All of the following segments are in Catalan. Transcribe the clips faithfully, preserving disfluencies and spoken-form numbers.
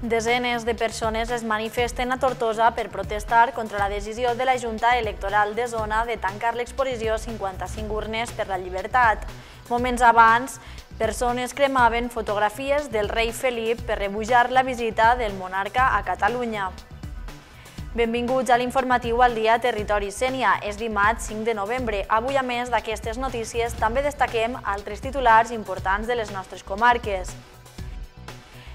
Desenes de persones es manifesten a Tortosa per protestar contra la decisió de la Junta Electoral de Zona de tancar l'exposició cinquanta-cinc urnes per la llibertat. Moments abans, persones cremaven fotografies del rei Felip per rebutjar la visita del monarca a Catalunya. Benvinguts a l'informatiu al dia Territori Sénia. És dimarts cinc de novembre. Avui, a més d'aquestes notícies, també destaquem altres titulars importants de les nostres comarques.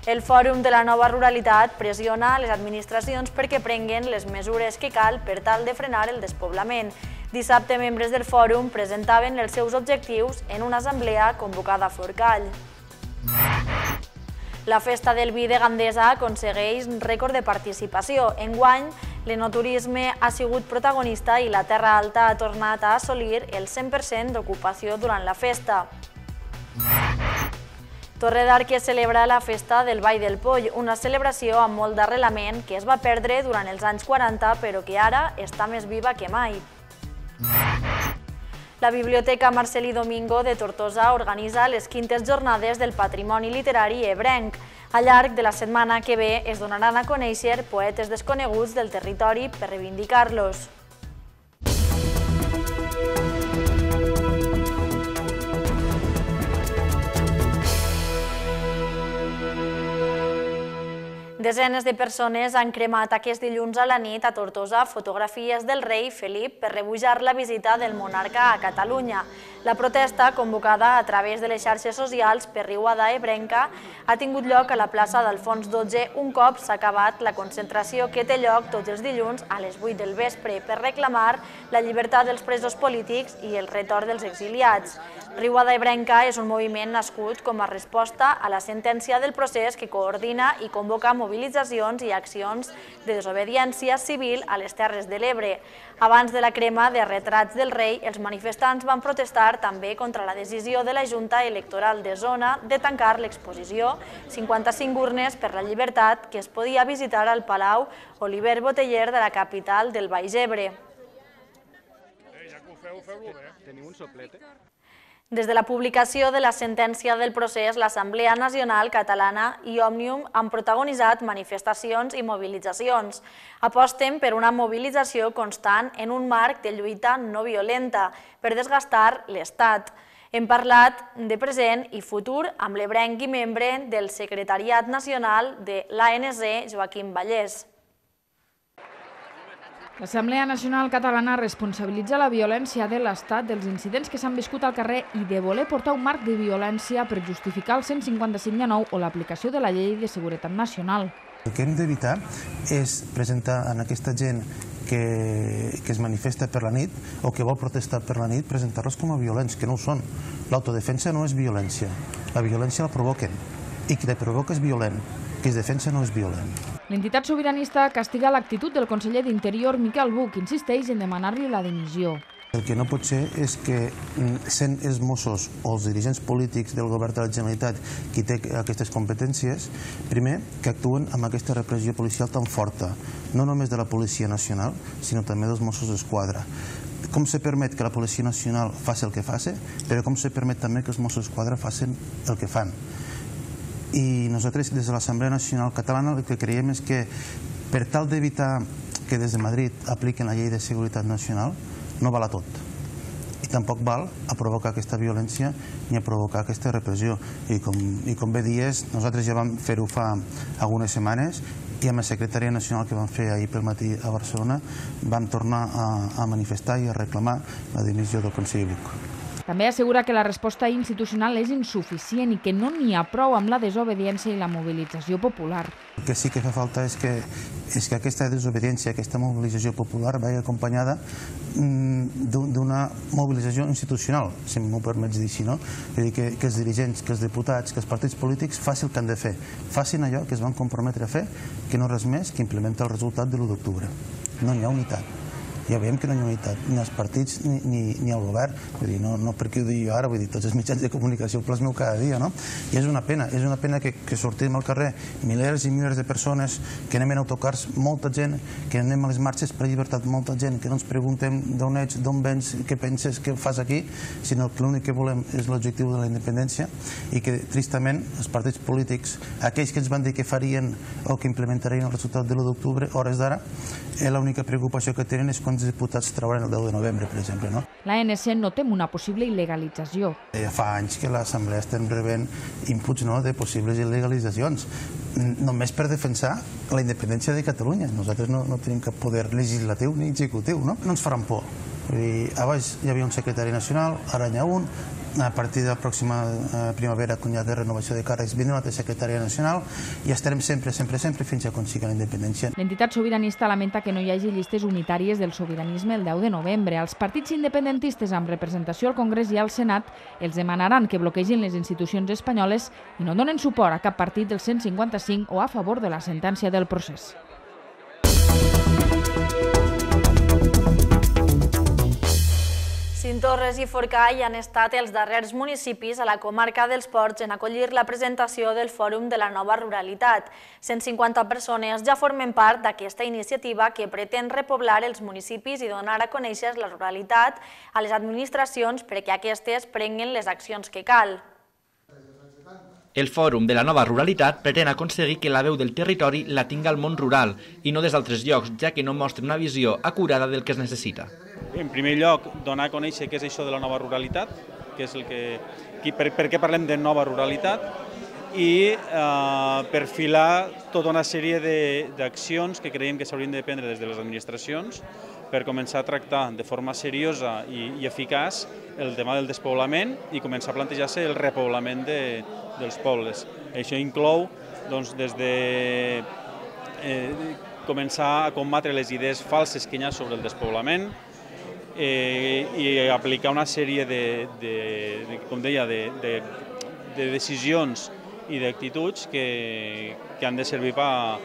El Fòrum de la Nova Ruralitat pressiona les administracions perquè prenguen les mesures que cal per tal de frenar el despoblament. Dissabte, membres del Fòrum presentaven els seus objectius en una assemblea convocada a Forcall. La Festa del Vi de Gandesa aconsegueix rècord de participació. Enguany, l'enoturisme ha sigut protagonista i la Terra Alta ha tornat a assolir el cent per cent d'ocupació durant la festa. Torredàrquer celebra la festa del Ball del Poll, una celebració amb molt d'arrelament que es va perdre durant els anys quaranta, però que ara està més viva que mai. La Biblioteca Marcel·lí Domingo de Tortosa organitza les quintes jornades del patrimoni literari ebrenc. Al llarg de la setmana que ve es donaran a conèixer poetes desconeguts del territori per reivindicar-los. Desenes de persones han cremat aquest dilluns a la nit a Tortosa fotografies del rei Felip per rebutjar la visita del monarca a Catalunya. La protesta, convocada a través de les xarxes socials per Riuada Ebrenca, ha tingut lloc a la plaça d'Alfons dotze un cop s'ha acabat la concentració que té lloc tots els dilluns a les vuit del vespre per reclamar la llibertat dels presos polítics i el retorn dels exiliats. Riuada Ebrenca és un moviment nascut com a resposta a la sentència del procés que coordina i convoca mobilitzacions i accions de desobediència civil a les Terres de l'Ebre. Abans de la crema de retrats del rei, els manifestants van protestar també contra la decisió de la Junta Electoral de Zona de tancar l'exposició cinquanta-cinc urnes per la llibertat que es podia visitar al Palau Oliver Boteller de la capital del Baix Ebre. Teniu un soplete? Des de la publicació de la sentència del procés, l'Assemblea Nacional Catalana i Òmnium han protagonitzat manifestacions i mobilitzacions. Aposten per una mobilització constant en un marc de lluita no violenta per desgastar l'Estat. Hem parlat de present i futur amb l'ebrenc i membre del Secretariat Nacional de l'A N C, Joaquim Vallès. L'Assemblea Nacional Catalana responsabilitza la violència de l'Estat dels incidents que s'han viscut al carrer i de voler portar un marc de violència per justificar el cent cinquanta-cinc de nou o l'aplicació de la Llei de Seguretat Nacional. El que hem d'evitar és presentar a aquesta gent que es manifesta per la nit o que vol protestar per la nit, presentar-los com a violents, que no ho són. L'autodefensa no és violència. La violència la provoquen. I qui la provoca és violent. Qui es defensa no és violent. L'entitat sobiranista castiga l'actitud del conseller d'Interior, Miquel Buch, que insisteix en demanar-li la dimissió. El que no pot ser és que, sent els Mossos o els dirigents polítics del govern de la Generalitat qui té aquestes competències, primer, que actuen amb aquesta repressió policial tan forta, no només de la Policia Nacional, sinó també dels Mossos d'Esquadra. Com se permet que la Policia Nacional faci el que faci, però com se permet també que els Mossos d'Esquadra facin el que fan. I nosaltres, des de l'Assemblea Nacional Catalana, el que creiem és que per tal d'evitar que des de Madrid apliquen la Llei de Seguretat Nacional, no val a tot. I tampoc val a provocar aquesta violència ni a provocar aquesta repressió. I com bé dies, nosaltres ja vam fer-ho fa algunes setmanes i amb la secretària nacional que vam fer ahir pel matí a Barcelona vam tornar a manifestar i a reclamar la dimissió del conseller Buch. També assegura que la resposta institucional és insuficient i que no n'hi ha prou amb la desobediència i la mobilització popular. El que sí que fa falta és que aquesta desobediència, aquesta mobilització popular vagi acompanyada d'una mobilització institucional, si m'ho permets dir així, no? És a dir, que els dirigents, que els diputats, que els partits polítics facin el que han de fer. Facin allò que es van comprometre a fer, que no res més que implementar el resultat de l'u d'octubre. No hi ha unitat. ja veiem que no hi ha unitat ni als partits ni, ni, ni al govern. Vull dir, no, no perquè ho digui jo ara, vull dir, tots els mitjans de comunicació ho plasmeu cada dia, no? I és una pena, és una pena que, que sortim al carrer milers i milers de persones, que anem en autocars, molta gent, que anem a les marxes per llibertat, molta gent, que no ens preguntem d'on ets, d'on vens, què penses, què fas aquí, sinó que l'únic que volem és l'objectiu de la independència i que, tristament, els partits polítics, aquells que ens van dir que farien o que implementarien el resultat de l'u d'octubre, hores d'ara, l'única preocupació que tenen és quants diputats trauran el deu de novembre, per exemple. L'A N C no tem una possible il·legalització. Ja fa anys que l'Assemblea estem rebent inputs de possibles il·legalitzacions, només per defensar la independència de Catalunya. Nosaltres no tenim cap poder legislatiu ni executiu, no? No ens faran por. Abans hi havia un secretari nacional, ara n'hi ha un. A partir de la pròxima primavera, quan hi ha renovació de càrrecs, vindrà una altra secretària nacional i estarem sempre, sempre, sempre fins a aconseguir la independència. L'entitat sobiranista lamenta que no hi hagi llistes unitàries del sobiranisme el deu de novembre. Els partits independentistes amb representació al Congrés i al Senat els demanaran que bloquegin les institucions espanyoles i no donen suport a cap partit del cent cinquanta cinc o a favor de la sentència del procés. Cinctorres i Forcall han estat els darrers municipis a la comarca dels Ports en acollir la presentació del Fòrum de la Nova Ruralitat. cent cinquanta persones ja formen part d'aquesta iniciativa que pretén repoblar els municipis i donar a conèixer la ruralitat a les administracions perquè aquestes prenguin les accions que cal. El Fòrum de la Nova Ruralitat pretén aconseguir que la veu del territori la tinga el món rural i no des d'altres llocs, ja que no mostra una visió acurada del que es necessita. En primer lloc, donar a conèixer què és això de la nova ruralitat, que és el que, per, per què parlem de nova ruralitat, i eh, perfilar tota una sèrie d'accions que creiem que s'haurien de prendre des de les administracions per començar a tractar de forma seriosa i, i eficaç el tema del despoblament i començar a plantejar-se el repoblament de, dels pobles. Això inclou doncs, des de eh, començar a combatre les idees falses que hi ha sobre el despoblament eh, i aplicar una sèrie de, de, de com deia, de, de, de decisions i d'actituds que, que han de servir per,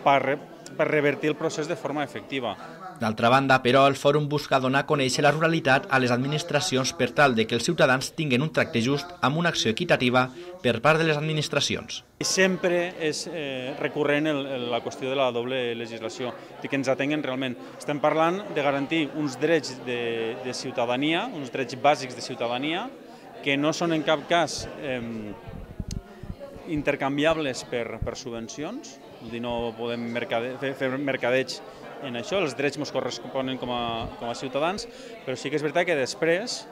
per, per revertir el procés de forma efectiva. D'altra banda, però, el Fòrum busca donar a conèixer la ruralitat a les administracions per tal de que els ciutadans tinguin un tracte just amb una acció equitativa per part de les administracions. Sempre és eh, recurrent el, la qüestió de la doble legislació, i que ens atenguen realment. Estem parlant de garantir uns drets de, de ciutadania, uns drets bàsics de ciutadania, que no són en cap cas eh, intercanviables per, per subvencions, és a dir, no podem mercade, fer, fer mercadeig en això, els drets ens corresponen com a, com a ciutadans, però sí que és veritat que després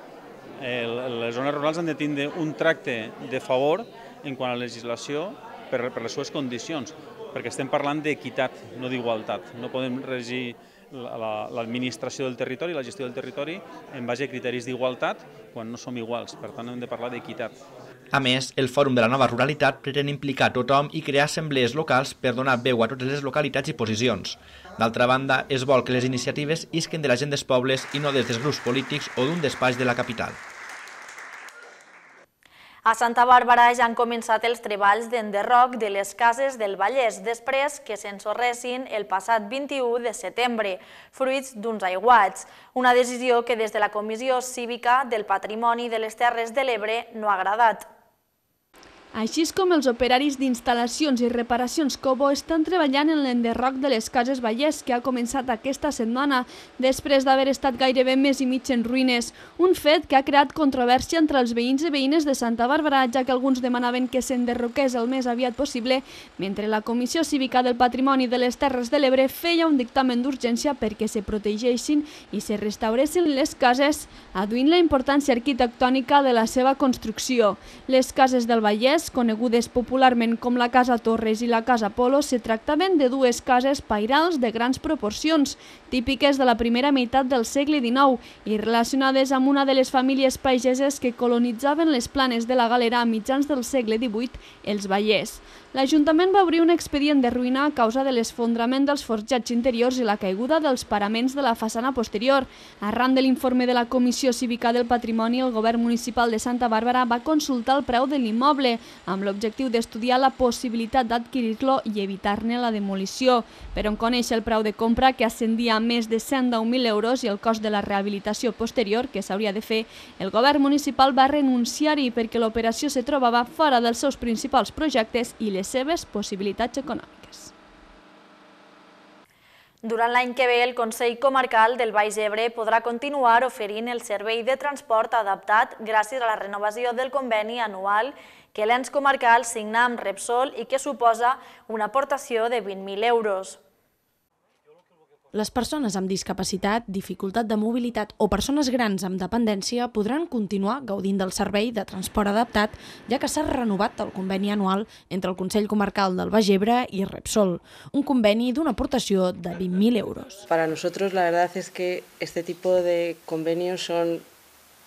eh, les zones rurals han de tindre un tracte de favor en quant a la legislació per, per les seves condicions, perquè estem parlant d'equitat, no d'igualtat. No podem regir l'administració del territori, la gestió del territori, en base a criteris d'igualtat quan no som iguals. Per tant, hem de parlar d'equitat. A més, el Fòrum de la Nova Ruralitat pretén implicar tothom i crear assemblees locals per donar veu a totes les localitats i posicions. D'altra banda, es vol que les iniciatives isquen de la gent dels pobles i no des dels grups polítics o d'un despatx de la capital. A Santa Bàrbara ja han començat els treballs d'enderroc de les cases del Vallès després que s'ensorressin el passat vint-i-u de setembre, fruits d'uns aiguats. Una decisió que des de la Comissió Cívica del Patrimoni de les Terres de l'Ebre no ha agradat. Així és com els operaris d'instal·lacions i reparacions Cobo estan treballant en l'enderroc de les cases Vallès, que ha començat aquesta setmana, després d'haver estat gairebé mes i mig en ruïnes. Un fet que ha creat controvèrsia entre els veïns i veïnes de Santa Bàrbara, ja que alguns demanaven que s'enderroqués el més aviat possible, mentre la Comissió Cívica del Patrimoni de les Terres de l'Ebre feia un dictamen d'urgència perquè se protegeixin i se restauressin les cases, adduint la importància arquitectònica de la seva construcció. Les cases del Vallès, conegudes popularment com la Casa Torres i la Casa Polo, se tractaven de dues cases pairals de grans proporcions, típiques de la primera meitat del segle dinou i relacionades amb una de les famílies pageses que colonitzaven les planes de la Galera a mitjans del segle divuit, els Vallès. L'Ajuntament va obrir un expedient de ruïna a causa de l'esfondrament dels forjats interiors i la caiguda dels paraments de la façana posterior. Arran de l'informe de la Comissió Cívica del Patrimoni, el Govern Municipal de Santa Bàrbara va consultar el preu de l'immoble, amb l'objectiu d'estudiar la possibilitat d'adquirir-lo i evitar-ne la demolició. Per on conèixer el preu de compra, que ascendia a més de cent deu mil euros, i el cost de la rehabilitació posterior que s'hauria de fer, el govern municipal va renunciar-hi perquè l'operació se trobava fora dels seus principals projectes i les seves possibilitats econòmiques. Durant l'any que ve, el Consell Comarcal del Baix Ebre podrà continuar oferint el servei de transport adaptat gràcies a la renovació del conveni anual que l'ens comarcal signa amb Repsol i que suposa una aportació de vint mil euros. Les persones amb discapacitat, dificultat de mobilitat o persones grans amb dependència podran continuar gaudint del servei de transport adaptat, ja que s'ha renovat el conveni anual entre el Consell Comarcal del Baix Ebre y Repsol, un conveni d'una aportació de vint mil euros. Para nosotros la verdad es que este tipo de convenios son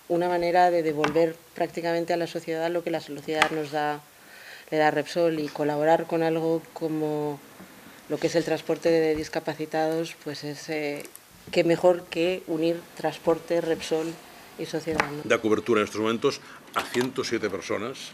una manera de devolver prácticamente a la sociedad lo que la sociedad nos da, le da Repsol, y colaborar con algo como lo que es el transporte de discapacitados, pues es eh, que mejor que unir transporte, Repsol y sociedad, ¿no? Da cobertura en estos momentos a ciento siete personas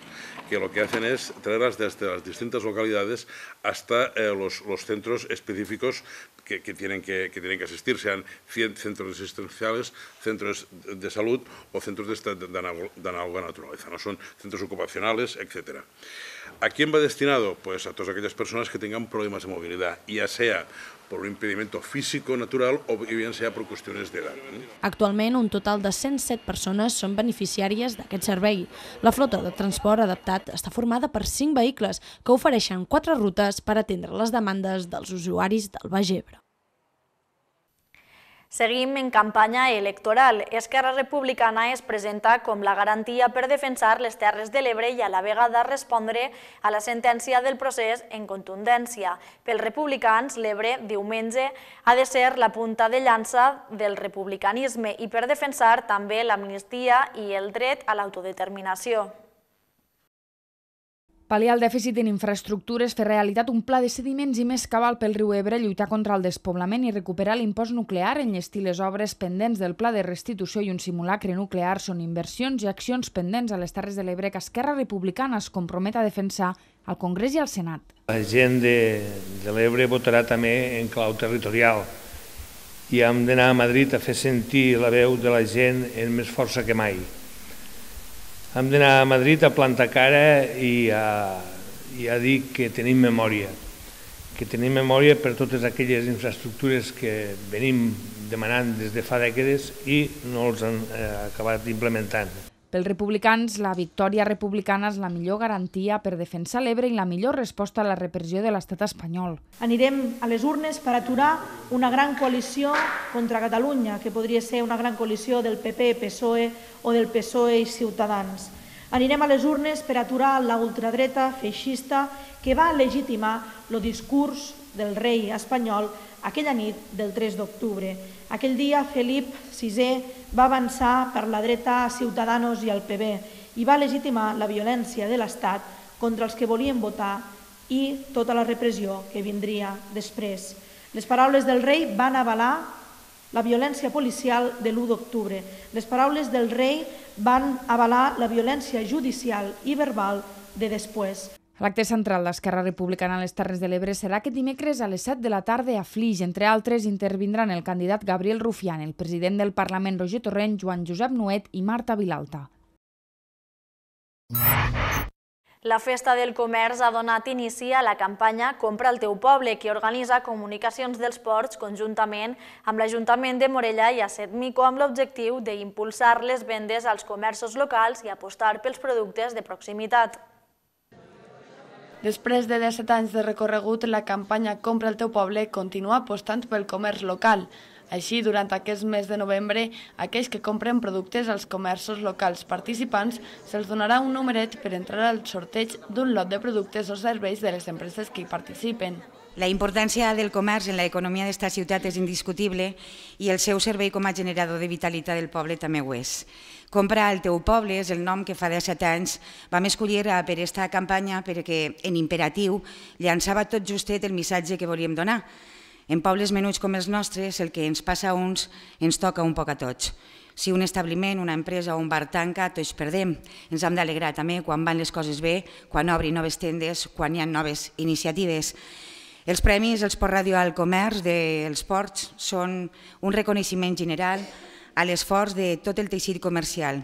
que lo que hacen es traerlas desde las distintas localidades hasta eh, los, los centros específicos que, que, tienen que, que tienen que asistir, sean centros asistenciales, centros de salud o centros de, de, de, de análoga naturaleza, no son centros ocupacionales, etcétera. ¿A quién va destinado? Pues a todas aquellas personas que tengan problemas de movilidad, ya sea por un impedimento físico natural o bien sea por cuestiones de edad. Actualment, un total de cent set persones són beneficiàries d'aquest servei. La flota de transport adaptat està formada per cinc vehicles que ofereixen quatre rutes per atendre les demandes dels usuaris del Baix Ebre. Seguim en campanya electoral. Esquerra Republicana es presenta com la garantia per defensar les Terres de l'Ebre i a la vegada respondre a la sentència del procés en contundència. Pels republicans, l'Ebre, diumenge, ha de ser la punta de llança del republicanisme i per defensar també l'amnistia i el dret a l'autodeterminació. Pal·liar el dèficit en infraestructures, fer realitat un pla de sediments i més cabal pel riu Ebre, lluitar contra el despoblament i recuperar l'impost nuclear, enllestir les obres pendents del pla de restitució i un simulacre nuclear són inversions i accions pendents a les Terres de l'Ebre que Esquerra Republicana es compromet a defensar al Congrés i al Senat. La gent de, de l'Ebre votarà també en clau territorial i hem d'anar a Madrid a fer sentir la veu de la gent amb més força que mai. Hem d'anar a Madrid a plantar cara i a, i a dir que tenim memòria, que tenim memòria per totes aquelles infraestructures que venim demanant des de fa dècades i no els han eh, acabat implementant. Pels republicans, la victòria republicana és la millor garantia per defensar l'Ebre i la millor resposta a la repressió de l'estat espanyol. Anirem a les urnes per aturar una gran coalició contra Catalunya, que podria ser una gran coalició del P P, P S O E o del P S O E i Ciutadans. Anirem a les urnes per aturar la ultradreta feixista que va legitimar el discurs del rei espanyol aquella nit del tres d'octubre. Aquell dia Felip sisè va avançar per la dreta a Ciutadanos i al P B i va legitimar la violència de l'Estat contra els que volien votar i tota la repressió que vindria després. Les paraules del rei van avalar la violència policial de l'u d'octubre. Les paraules del rei van avalar la violència judicial i verbal de després. L'acte central d'Esquerra Republicana a les Terres de l'Ebre serà aquest dimecres a les set de la tarda a Flix. Entre altres, intervindran el candidat Gabriel Rufián, el president del Parlament Roger Torrent, Joan Josep Nuet i Marta Vilalta. La Festa del Comerç ha donat inici a la campanya Compra el teu poble, que organitza Comunicacions dels Ports conjuntament amb l'Ajuntament de Morella i Asetmico amb l'objectiu d'impulsar les vendes als comerços locals i apostar pels productes de proximitat. Després de disset anys de recorregut, la campanya Compra el teu poble continua apostant pel comerç local. Així, durant aquest mes de novembre, aquells que compren productes als comerços locals participants se'ls donarà un numeret per entrar al sorteig d'un lot de productes o serveis de les empreses que hi participen. La importància del comerç en l'economia d'esta ciutat és indiscutible i el seu servei com a generador de vitalitat del poble també ho és. Compra el teu poble és el nom que fa disset anys vam escollir per aquesta campanya perquè, en imperatiu, llançava tot justet el missatge que volíem donar. En pobles menuts com els nostres, el que ens passa a uns ens toca un poc a tots. Si un establiment, una empresa o un bar tanca, tots perdem. Ens hem d'alegrar també quan van les coses bé, quan obrin noves tendes, quan hi ha noves iniciatives. Els premis, els Port Radio al Comerç dels ports són un reconeixement general a l'esforç de tot el teixit comercial.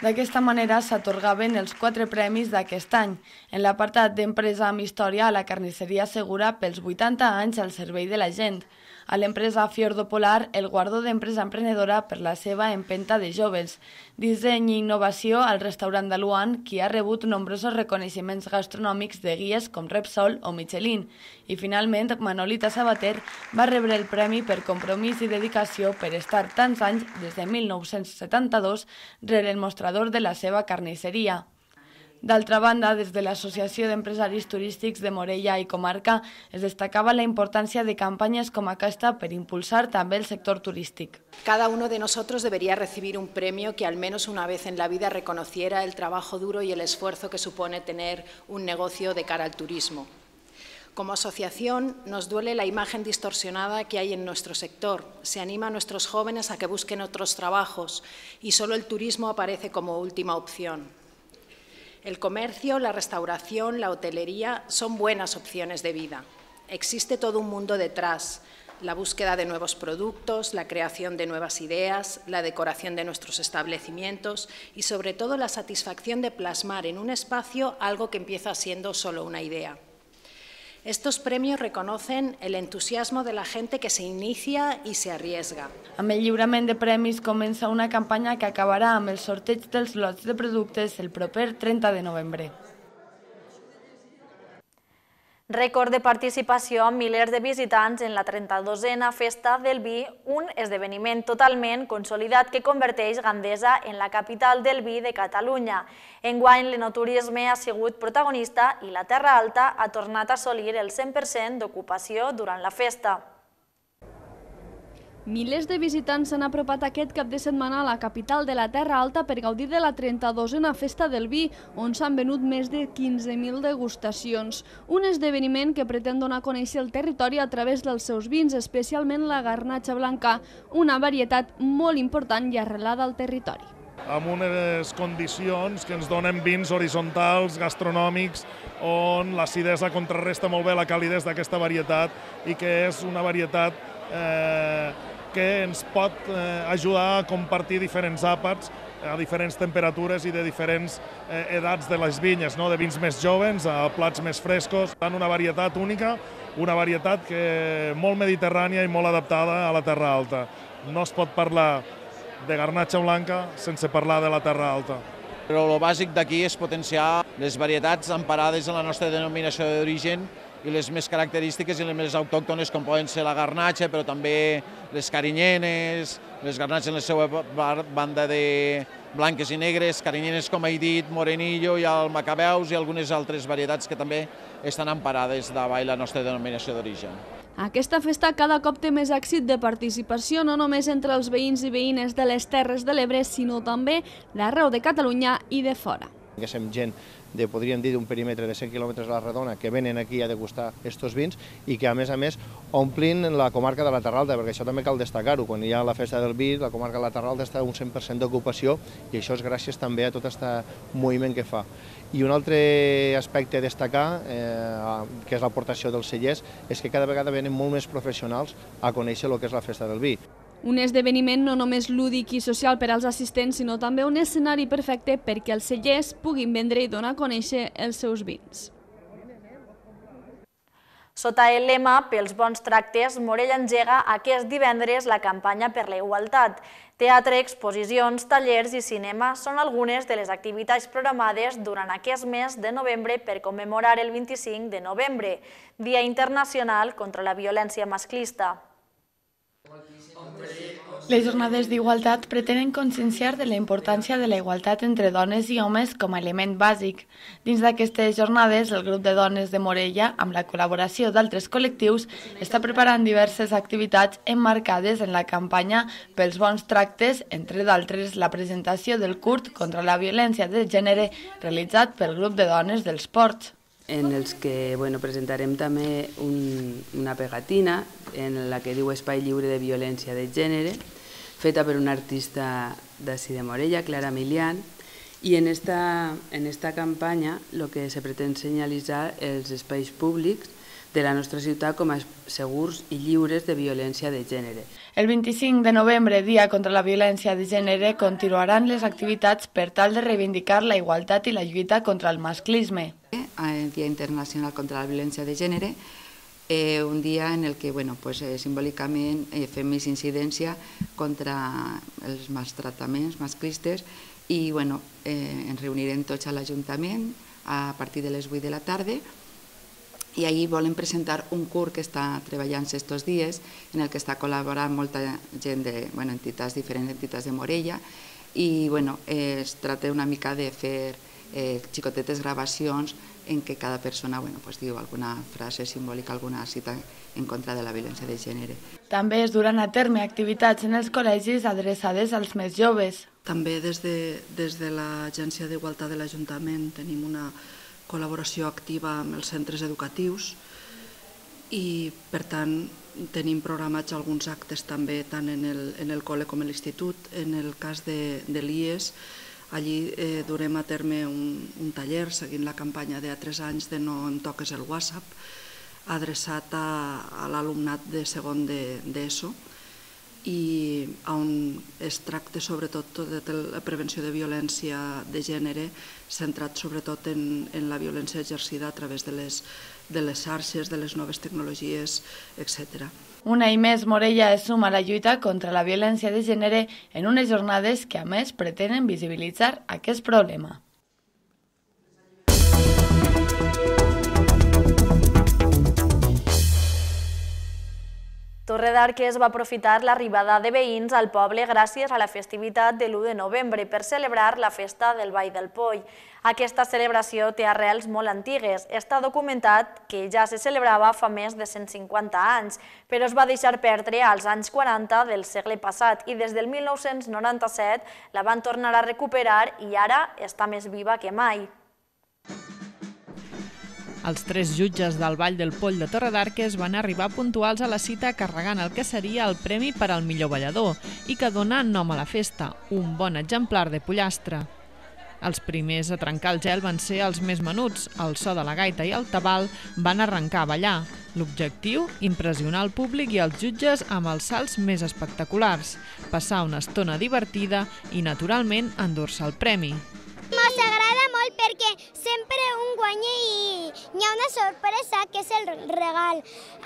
D'aquesta manera s'atorgaven els quatre premis d'aquest any. En l'apartat d'empresa amb història, a la carnisseria Segura pels vuitanta anys al servei de la gent. A l'empresa Fiordo Polar, el guardó d'empresa emprenedora per la seva empenta de joves. Disseny i innovació al restaurant de Luan, qui ha rebut nombrosos reconeixements gastronòmics de guies com Repsol o Michelin. I finalment, Manolita Sabater va rebre el premi per compromís i dedicació per estar tants anys, des de mil nou-cents setanta-dos, rere el mostrador de la seva carnisseria. D'altra banda, des de l'Associació d'Empresaris Turístics de Morella i Comarca es destacava la importància de campanyes com aquesta per impulsar també el sector turístic. Cada uno de nosotros debería recibir un premio que al menos una vez en la vida reconociera el trabajo duro y el esfuerzo que supone tener un negocio de cara al turismo. Como asociación, nos duele la imagen distorsionada que hay en nuestro sector. Se anima a nuestros jóvenes a que busquen otros trabajos y solo el turismo aparece como última opción. El comercio, la restauración, la hotelería son buenas opciones de vida. Existe todo un mundo detrás, la búsqueda de nuevos productos, la creación de nuevas ideas, la decoración de nuestros establecimientos y sobre todo la satisfacción de plasmar en un espacio algo que empieza siendo solo una idea. Estos premios reconocen el entusiasmo de la gente que se inicia y se arriesga. Amb el lliurament de premis comença una campanya que acabarà amb el sorteig dels lots de productes el proper trenta de novembre. Rècord de participació amb milers de visitants en la trenta-dosena Festa del Vi, un esdeveniment totalment consolidat que converteix Gandesa en la capital del vi de Catalunya. Enguany, l'enoturisme ha sigut protagonista i la Terra Alta ha tornat a assolir el cent per cent d'ocupació durant la festa. Milers de visitants s'han apropat aquest cap de setmana a la capital de la Terra Alta per gaudir de la trenta-dosena Festa del Vi, on s'han venut més de quinze mil degustacions. Un esdeveniment que pretén donar a conèixer el territori a través dels seus vins, especialment la garnatxa blanca, una varietat molt important i arrelada al territori. Amb unes condicions que ens donen vins horitzontals, gastronòmics, on l'acidesa contrarresta molt bé la calidesa d'aquesta varietat i que és una varietat eh, que ens pot eh, ajudar a compartir diferents àpats a diferents temperatures i de diferents eh, edats de les vinyes, no? De vins més joves a plats més frescos. Tant una varietat única, una varietat que molt mediterrània i molt adaptada a la Terra Alta. No es pot parlar de garnatxa blanca sense parlar de la Terra Alta. Però el bàsic d'aquí és potenciar les varietats emparades en la nostra denominació d'origen i les més característiques i les més autòctones, com poden ser la garnatxa, però també les carinyenes, les garnatxes en la seva banda de blanques i negres, carinyenes, com he dit, morenillo i el macabeus i algunes altres varietats que també estan emparades davall la nostra denominació d'origen. Aquesta festa cada cop té més èxit de participació, no només entre els veïns i veïnes de les Terres de l'Ebre, sinó també d'arreu de Catalunya i de fora. Que som gent de, podríem dir, d'un perímetre de cent quilòmetres a la redona que venen aquí a degustar aquests vins i que, a més a més, omplin la comarca de la Terra Alta, perquè això també cal destacar-ho. Quan hi ha la festa del vi, la comarca de la Terra Alta està un cent per cent d'ocupació i això és gràcies també a tot aquest moviment que fa. I un altre aspecte a destacar, eh, que és l'aportació dels cellers, és que cada vegada venen molt més professionals a conèixer el que és la festa del vi. Un esdeveniment no només lúdic i social per als assistents, sinó també un escenari perfecte perquè els cellers puguin vendre i donar a conèixer els seus vins. Sota el lema Pels bons tractes, Morella engega aquest divendres la campanya per la igualtat. Teatre, exposicions, tallers i cinema són algunes de les activitats programades durant aquest mes de novembre per commemorar el vint-i-cinc de novembre, Dia Internacional contra la Violència Masclista. Les jornades d'igualtat pretenen conscienciar de la importància de la igualtat entre dones i homes com a element bàsic. Dins d'aquestes jornades, el grup de dones de Morella, amb la col·laboració d'altres col·lectius, està preparant diverses activitats emmarcades en la campanya Pels bons tractes, entre d'altres la presentació del curt contra la violència de gènere realitzat pel grup de dones dels Ports. en els que bueno, presentarem també un, una pegatina en la que diu Espai lliure de violència de gènere, feta per una artista d'ací de Morella, Clara Milian, i en esta, en esta campanya el que se pretén senyalitzar els espais públics de la nostra ciutat com a segurs i lliures de violència de gènere. El vint-i-cinc de novembre, Dia contra la Violència de Gènere, continuaran les activitats per tal de reivindicar la igualtat i la lluita contra el masclisme. El Dia Internacional contra la Violència de Gènere, eh, un dia en el que bueno, pues, eh, simbòlicament eh, fem més incidència contra els maltractaments masclistes i bueno, eh, ens reunirem tots a l'Ajuntament a partir de les vuit de la tarda i ahir volem presentar un curs que està treballant estos dies en el que està col·laborant molta gent de bueno, entitats, diferents entitats de Morella i bueno, eh, es tracta una mica de fer eh, xicotetes gravacions en què cada persona bueno, pues, diu alguna frase simbòlica, alguna cita en contra de la violència de gènere. També es duran a terme activitats en els col·legis adreçades als més joves. També des de, des de l'Agència d'Igualtat de l'Ajuntament tenim una col·laboració activa amb els centres educatius i, per tant, tenim programats alguns actes també tant en el, en el col·le com a l'institut. En el cas de, de l'I E S, allí eh, durem a terme un, un taller seguint la campanya de a tres anys de No em toques el WhatsApp, adreçat a, a l'alumnat de segon d'ESO, i on es tracta sobretot de la prevenció de violència de gènere, centrat sobretot en, en la violència exercida a través de les, de les xarxes, de les noves tecnologies, etcètera. Un any més, Morella es suma a la lluita contra la violència de gènere en unes jornades que, a més, pretenen visibilitzar aquest problema. Torredarques va aprofitar l'arribada de veïns al poble gràcies a la festivitat de l'u de novembre per celebrar la festa del Ball del Poll. Aquesta celebració té arrels molt antigues. Està documentat que ja se celebrava fa més de cent cinquanta anys, però es va deixar perdre als anys quaranta del segle passat i des del mil nou-cents noranta-set la van tornar a recuperar i ara està més viva que mai. Els tres jutges del Ball del Poll de Torredarques van arribar puntuals a la cita carregant el que seria el premi per al millor ballador i que dona nom a la festa, un bon exemplar de pollastre. Els primers a trencar el gel van ser els més menuts, el so de la gaita i el tabal van arrencar a ballar. L'objectiu, impressionar el públic i els jutges amb els salts més espectaculars, passar una estona divertida i, naturalment, endur-se el premi. Ens agrada molt perquè sempre un guanya i hi ha una sorpresa que és el regal.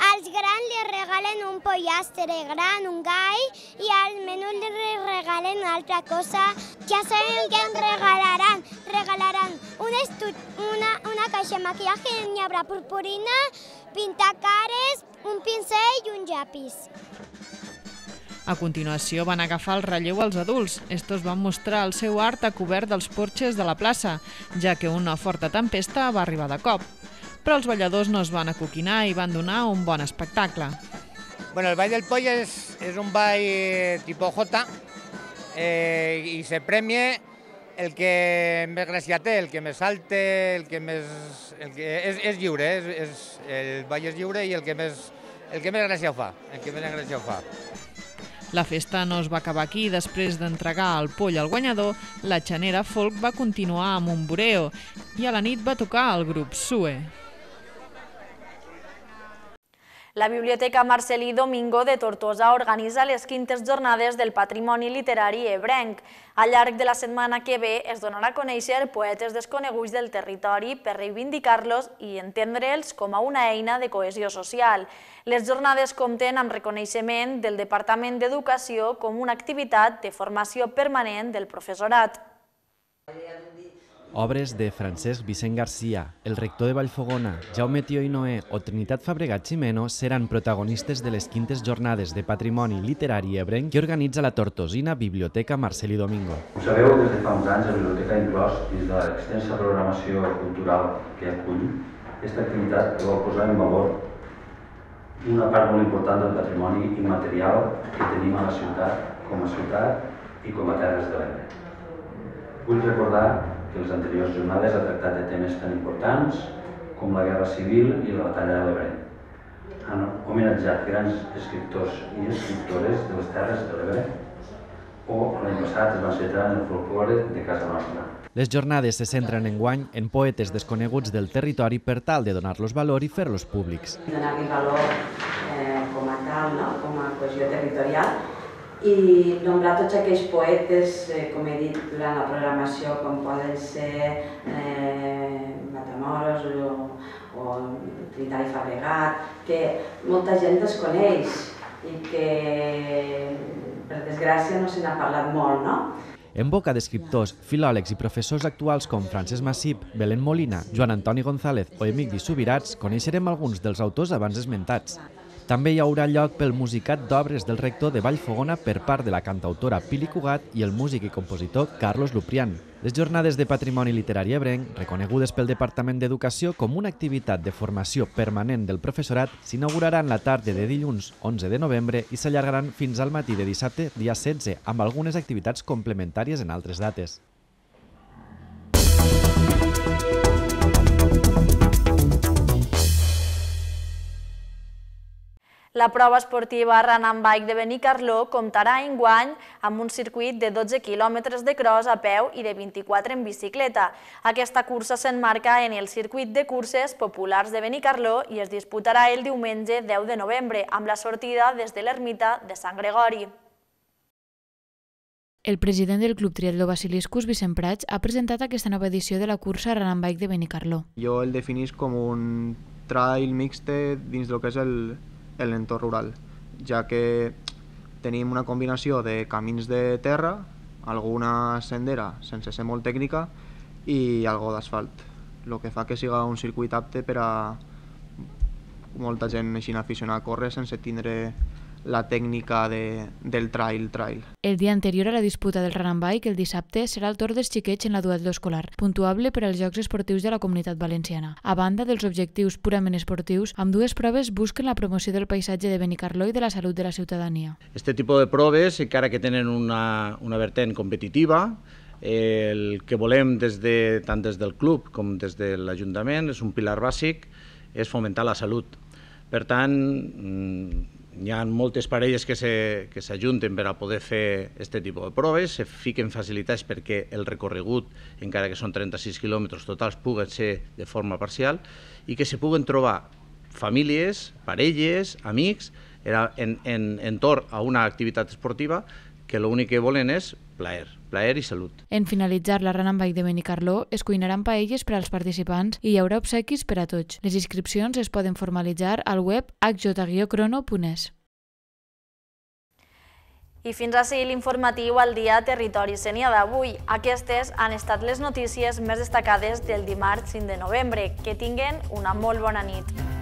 Als grans li regalen un pollastre gran, un gall, i als menuts li regalen una altra cosa. Ja saben què ens regalaran. Regalaran una, una, una caixa de maquillatge, n'hi haurà purpurina, pintacares, un pincell i un llapis. A continuació van agafar el relleu als adults. Estos van mostrar el seu art a cobert dels porxes de la plaça, ja que una forta tempesta va arribar de cop. Però els balladors no es van acoquinar i van donar un bon espectacle. Bueno, el Ball del Poll és, és un ball tipo J eh, i se premia el que més gràcia té, el que més salte, el que més... El que és, és lliure, és, és, el ball és lliure i el que més, el que més gràcia ho fa. El que més gràcia ho fa. La festa no es va acabar aquí. Després d'entregar el poll al guanyador, la xanera folk va continuar amb un bureo i a la nit va tocar el grup Sue. La Biblioteca Marcelí Domingo de Tortosa organitza les quintes jornades del patrimoni literari ebrenc. Al llarg de la setmana que ve es donarà a conèixer poetes desconeguts del territori per reivindicar-los i entendre'ls com a una eina de cohesió social. Les jornades compten amb reconeixement del Departament d'Educació com una activitat de formació permanent del professorat. Obres de Francesc Vicent Garcia, el rector de Vallfogona, Jaume Tió i Noé o Trinitat Fabregat Ximeno seran protagonistes de les quintes jornades de patrimoni literari ebrenc que organitza la tortosina Biblioteca Marcelí Domingo. Ho sabeu, des de fa uns anys la biblioteca ha inclòs dins de l'extensa programació cultural que acull aquesta activitat que vol posar en valor una part molt important del patrimoni immaterial que tenim a la ciutat, com a ciutat i com a Terres de l'Ebre. Vull recordar que les anteriors jornades ha tractat de temes tan importants com la Guerra Civil i la Batalla de l'Ebre. Han homenatjat grans escriptors i escriptores de les Terres de l'Ebre o l'any passat es van centrar en el folklore de casa nostra. Les jornades se centren enguany en poetes desconeguts del territori per tal de donar-los valor i fer-los públics. Donar-li valor eh, com a tal, no? Com a cohesió territorial, i nombrar tots aquells poetes, eh, com he dit durant la programació, com poden ser eh, Matamoros o, o Trinitari Fabregat, que molta gent desconeix i que, per desgràcia, no se n'ha parlat molt, no? En boca d'escriptors, filòlegs i professors actuals com Francesc Massip, Belén Molina, Joan Antoni González o Emigdi Subirats, coneixerem alguns dels autors abans esmentats. També hi haurà lloc pel musicat d'obres del rector de Vallfogona per part de la cantautora Pili Cugat i el músic i compositor Carlos Luprián. Les jornades de patrimoni literari ebrenc, reconegudes pel Departament d'Educació com una activitat de formació permanent del professorat, s'inauguraran la tarda de dilluns onze de novembre i s'allargaran fins al matí de dissabte, dia setze, amb algunes activitats complementàries en altres dates. La prova esportiva Run and Bike de Benicarló comptarà enguany amb un circuit de dotze quilòmetres de cross a peu i de vint-i-quatre en bicicleta. Aquesta cursa s'emmarca en el circuit de curses populars de Benicarló i es disputarà el diumenge deu de novembre, amb la sortida des de l'ermita de Sant Gregori. El president del Club Triatló Basiliscus, Vicent Prats, ha presentat aquesta nova edició de la cursa Run and Bike de Benicarló. Jo el definís com un trail mixte dins del que és el l'entorn rural, ja que tenim una combinació de camins de terra, alguna sendera sense ser molt tècnica i algo d'asfalt, el que fa que siga un circuit apte per a molta gent així aficionada a córrer sense tindre la tècnica de, del trail trail. El dia anterior a la disputa del Run and Bike, el dissabte, serà el torn dels xiquets en la duatló escolar, puntuable per als Jocs Esportius de la Comunitat Valenciana. A banda dels objectius purament esportius, ambdues proves busquen la promoció del paisatge de Benicarló i de la salut de la ciutadania. Este tipus de proves, encara que tenen una, una vertent competitiva, el que volem des de, tant des del club com des de l'Ajuntament, és un pilar bàsic, és fomentar la salut. Per tant, hi ha moltes parelles que s'ajunten per a poder fer aquest tipus de proves, se fiquen facilitats perquè el recorregut, encara que són trenta-sis quilòmetres totals, pugui ser de forma parcial i que se puguen trobar famílies, parelles, amics, en, en, entorn a una activitat esportiva que l'únic que volen és plaer, plaer i salut. En finalitzar la Run and Bike de Benicarló, es cuinaran paelles per als participants i hi haurà obsequis per a tots. Les inscripcions es poden formalitzar al web h j guió crono punt es. I fins ací l'informatiu al dia Territori Sénia d'avui. Aquestes han estat les notícies més destacades del dimarts cinc de novembre. Que tinguen una molt bona nit.